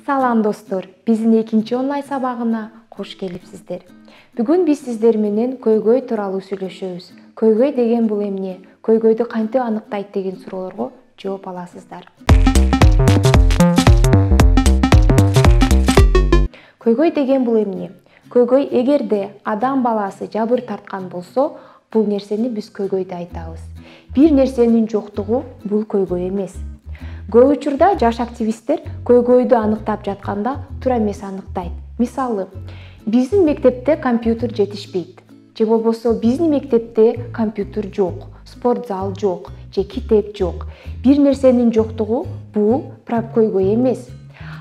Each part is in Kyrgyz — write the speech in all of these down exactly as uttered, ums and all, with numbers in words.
Салам достор, биздин экинчи онлайн сабагына кош келипсиздер. Бүгүн биз сиздер менен көйгөй тууралуу сүйлөшөбүз. Көйгөй деген бул эмне? Көйгөйдү кантип аныктайт деген суроолорго жооп аласыздар. Көйгөй деген бул эмне? Көйгөй эгерде адам баласы жабыр тарткан болсо, бул нерсени биз көйгөй деп айтабыз. Бир нерсенин жоктугу бул көйгөй эмес. Көп учурда жаш активисттер көйгөйдү аныктап жатканда туура эмес аныктайт. Мисалы, биздин мектепте компьютер жетишпейт, же болбосо биздин мектепте компьютер жок, спорт зал жок, же китеп жок. Бир нерсенин жоктугу бул көйгөй эмес.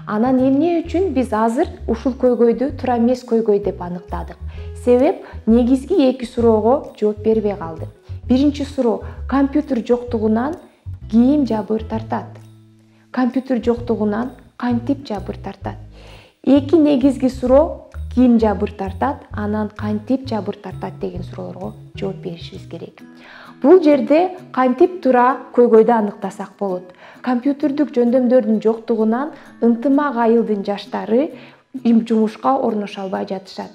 Анан эмне үчүн биз азыр ушул көйгөйдү туура эмес көйгөй деп аныктадык? Себеп негизги эки суроого жооп бербей калды. Биринчи суроо: компьютер жоктугунан ким жабыр тартат? Компьютер жоктугунан кантип жабыр тартат? Эки негизги суроо: ким жабыр тартат, анан кантип жабыр тартат деген суроолорго жооп беришибиз керек. Бул жерде кантип туура көйгөйдү аныктасак болот. Компьютердүк жөндөмдөрдүн жоктугунан ынтымак айылдын жаштары жумушка орношо албай жатышат.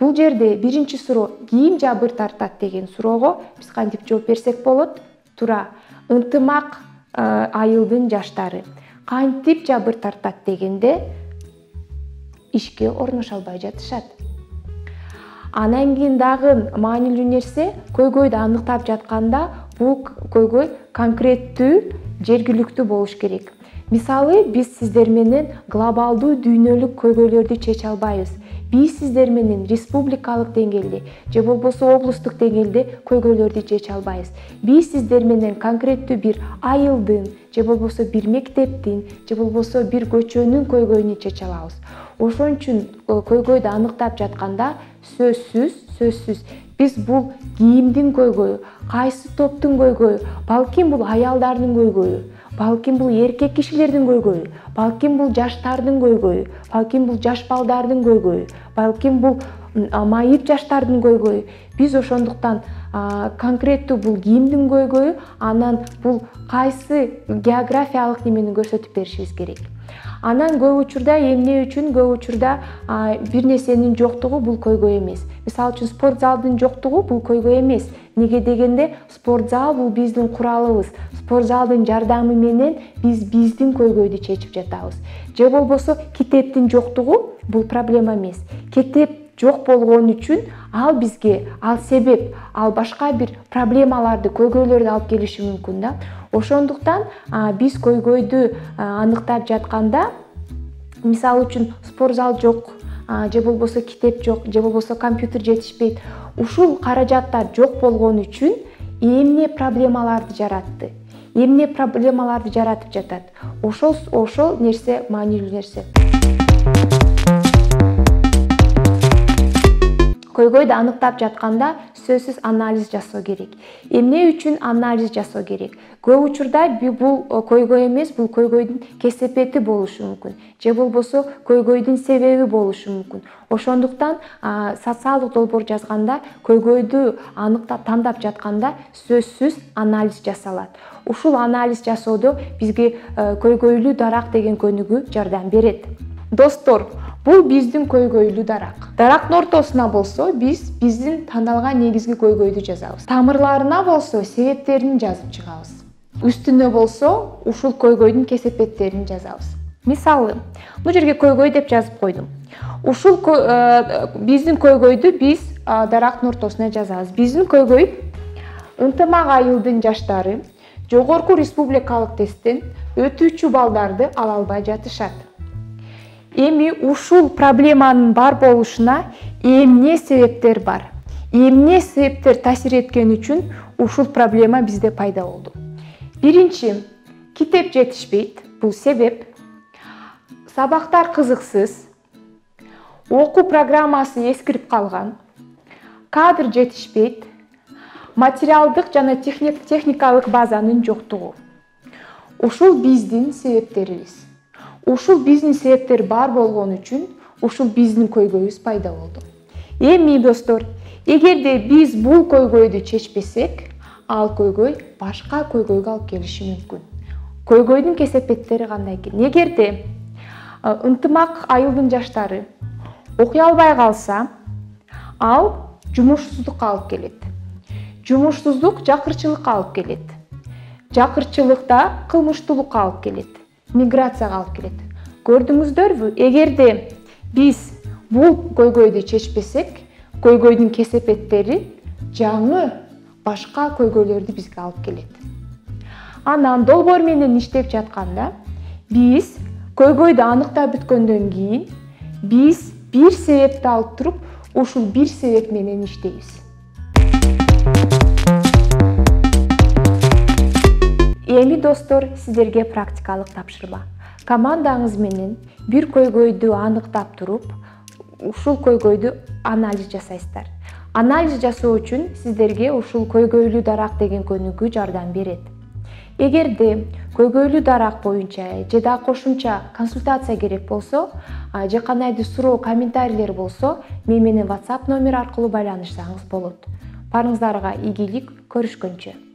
Бул жерде биринчи суроо ким жабыр тартат деген суроого биз кантип жооп берсек болот? Туура, ынтымак айылдын жаштары. Кантип жабыр тартат дегенде ишке орношо албай жатышат. Анан кийин дагы маанилүү нерсе, көйгөйдү аныктап жатканда бул көйгөй конкреттүү, жергиликтүү болуш керек. Мисалы, биз сиздер менен глобалдуу дүйнөлүк көйгөйлөрдү чече албайбыз. Биз сиздер менен республикалык деңгээлде же болбосо облустук деңгээлде көйгөйлөрдү чече албайбыз. Биз сиздер менен конкреттүү бир айылдын же болбосо бир мектептин же болбосо бир көчөнүн көйгөйүн чече алабыз. Ошон үчүн көйгөйдү аныктап жатканда сөзсүз, сөзсүз биз бул кимдин көйгөйү, кайсы топтун көйгөйү, балким бул аялдардын көйгөйү, балким бул эркек кишилердин көйгөйү, балким бул жаштардын көйгөйү, балким бул жаш балдардын көйгөйү, балким бул майып жаштардын көйгөйү. Биз ошондуктан конкреттүү бул кимдин көйгөйү, анан бул кайсы географиялык немени көрсөтүп беришибиз керек. Анан көп учурда эмне үчүн көп учурда бир нерсенин жоктугу бул көйгөй эмес. Мисалы үчүн спорт залдын жоктугу бул көйгөй эмес. Неге дегенде спорт зал бул биздин куралыбыз. Спорт залдын жардамы менен биз биздин көйгөйдү чечип жатабыз. Же болбосо китептин жоктугу бул проблема эмес. Китеп жок болгон үчүн ал бизге, ал себеп, ал башка бир проблемаларды, көйгөйлөрдү алып келиши мүмкүн да. Ошондуктан биз көйгөйдү аныктап жатканда, мисалы үчүн спорт зал жок, же болбосо китеп жок, же болбосо компьютер жетишпейт. Ушул каражаттар жок болгон үчүн эмне проблемаларды жаратты? Эмне проблемаларды жаратып жатат? Ошол ошол нерсе маанилүү нерсе. Көйгөйдү аныктап жатканда сөзсүз анализ жасоо керек. Эмне үчүн анализ жасоо керек? Көп учурда бул көйгөй эмес, бул көйгөйдүн кесепети болушу мүмкүн. Же болбосо көйгөйдүн себеби болушу мүмкүн. Ошондуктан социалдык долбоор жазганда, көйгөйдү аныктап тандап жатканда сөзсүз анализ жасалат. Ушул анализ жасоодо бизге көйгөйлүү дарак деген көнүгүү жардам берет. Достор, бул биздин көйгөйлүү дарак. Дарактын ортосуна болсо биз биздин тандалган негизги көйгөйдү жазабыз. Тамырларына болсо себептерин жазып чыгабыз. Үстүнө болсо ушул көйгөйдүн кесепеттерин жазабыз. Мисалы, бул жерге көйгөй деп жазып койдум. Ушул биздин көйгөйдү биз дарактын ортосуна жазабыз. Биздин көйгөй ынтымак айылдын жаштары жогорку республикалык тесттен өтүүчү балдарды ала албай жатышат. Эми ушул проблеманын бар болушуна эмне себептер бар? Эмне себептер таасир эткен үчүн ушул проблема бизде пайда болду? Биринчи, китеп жетишпейт, бул себеп. Сабактар кызыксыз, окуу программасы эскирип калган, кадр жетишпейт, материалдык жана техникалык базанын жоктугу. Ушул биздин себептерибиз. Ушул биздин себептер бар болгон үчүн ушул биздин көйгөйүбүз пайда болду. Эми достор, эгерде биз бул көйгөйдү чечпесек, ал көйгөй башка көйгөйгө алып келиши мүмкүн. Көйгөйдүн кесепеттери кандай экен? Эгерде ынтымак айылдын жаштары окуй албай калса, ал жумушсуздукка алып келет. Жумушсуздук жакырчылыкка алып келет. Жакырчылыкта кылмыштуулукка алып келет. Миграцияга алып келет. Көрдүңүздөрбү, эгерде биз бул көйгөйдү чечпесек, көйгөйдүн кесепеттери жаңы башка көйгөйлөрдү бизге алып келет. Анан долбоор менен иштеп жатканда биз көйгөйдү аныктап бүткөндөн кийин биз бир себепти алып туруп, ушул бир себеп менен иштейбиз. Эми достор, сиздерге практикалык тапшырма. Командаңыз менен бир көйгөйдү аныктап туруп, ушул көйгөйдү анализ жасайсыздар. Анализ жасоо үчүн сиздерге ушул көйгөйлүү дарак деген көнүгүү жардам берет. Эгерде көйгөйлүү дарак боюнча же да кошумча консультация керек болсо, же кандайдыр суроо, комментарийлер болсо, мен менен WhatsApp номер аркылуу байланышсаңыз болот. Барыңыздарга ийгилик, көрүшкөнчө.